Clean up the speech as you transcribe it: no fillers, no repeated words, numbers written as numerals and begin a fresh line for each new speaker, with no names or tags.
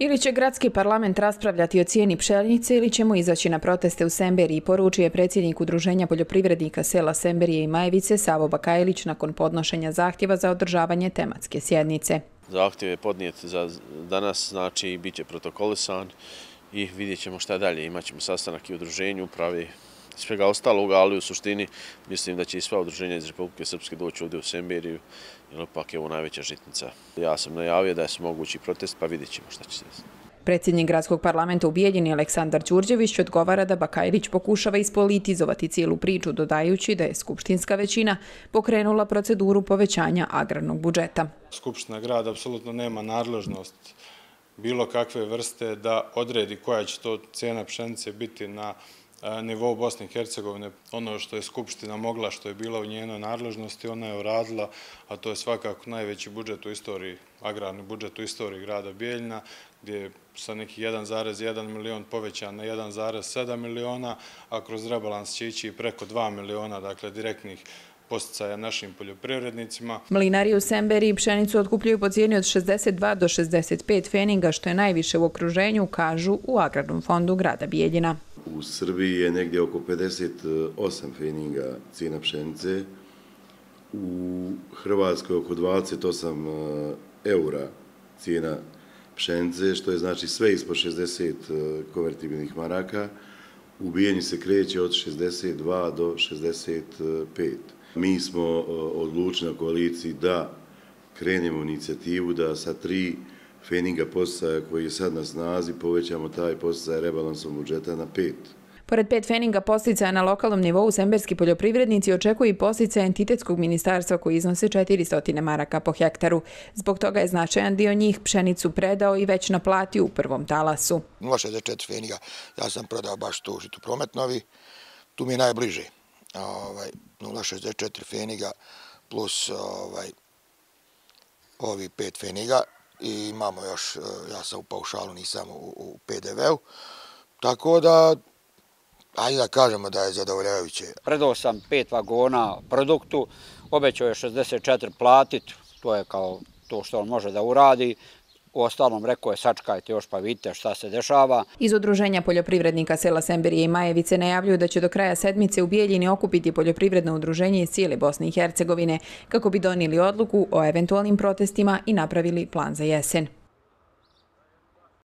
Ili će gradski parlament raspravljati o cijeni pšenice ili ćemo izaći na proteste u Semberiji, poručuje predsjednik Udruženja poljoprivrednika sela Semberije i Majevice Savo Bakajlić nakon podnošenja zahtjeva za održavanje tematske sjednice.
Zahtjev je podnijet za danas, znači bit će protokolisan i vidjet ćemo šta dalje. Imaćemo sastanak i udruženju, upravi svega ostaloga, ali u suštini mislim da će i sva udruženja iz Republike Srpske doći ovdje u Semberiju, jer ipak je ovo najveća žitnica. Ja sam najavio da je mogući protest, pa vidjet ćemo šta će se desiti.
Predsjednik gradskog parlamenta u Bijeljini Aleksandar Đurđević odgovara da Bakajlić pokušava ispolitizovati cijelu priču, dodajući da je skupštinska većina pokrenula proceduru povećanja agrarnog budžeta.
Skupština grada apsolutno nema nadležnost bilo kakve vrste da odredi koja će to cijena pšenice biti na nivou Bosne i Hercegovine. Ono što je Skupština mogla, što je bilo u njenoj nadležnosti, ona je uradila, a to je svakako najveći budžet u istoriji, agrarni budžet u istoriji grada Bijeljina, gdje je sa nekih 1,1 milion povećan na 1,7 miliona, a kroz rebalans će ići preko 2 miliona, dakle direktnih posticaja našim poljoprivrednicima.
Mlinari u Semberiji pšenicu otkupljuju po cijeni od 62 do 65 feninga, što je najviše u okruženju, kažu u Agrarnom fondu grada Bijeljina.
U Srbiji je negdje oko 58 feninga cijena pšenice, u Hrvatskoj oko 28 eura cijena pšenice, što je znači sve ispod 60 konvertibilnih maraka. U Bijeljini se kreće od 62 do 65. Mi smo odlučili na koaliciji da krenemo u inicijativu da sa 3 feninga posticaja koji je sad na snazi povećamo taj posticaj rebalansom budžeta na 5.
Pored 5 feninga posticaja na lokalnom nivou, semberski poljoprivrednici očekuju i posticaje entitetskog ministarstva koji iznose 400 maraka po hektaru. Zbog toga je značajan dio njih pšenicu predao i već naplatio u prvom talasu.
0,64 feninga ja sam prodao baš tu žitu Prometnovi, tu mi je najbliže. 0,64 feninga plus ovi 5 feninga i imamo još, ja sam u paušalu, nisam u PDV-u, tako da ajde da kažemo da je zadovoljavajuće.
Predao sam 5 vagona produktu, obećao je 64 platiti, to je kao to što on može da uradi. U ostalom rekao je sačekajte još pa vidite šta se dešava.
Iz Udruženja poljoprivrednika sela Semberije i Majevice najavljuju da će do kraja sedmice u Bijeljini okupiti poljoprivredno udruženje iz cijele Bosne i Hercegovine kako bi donijeli odluku o eventualnim protestima i napravili plan za jesen.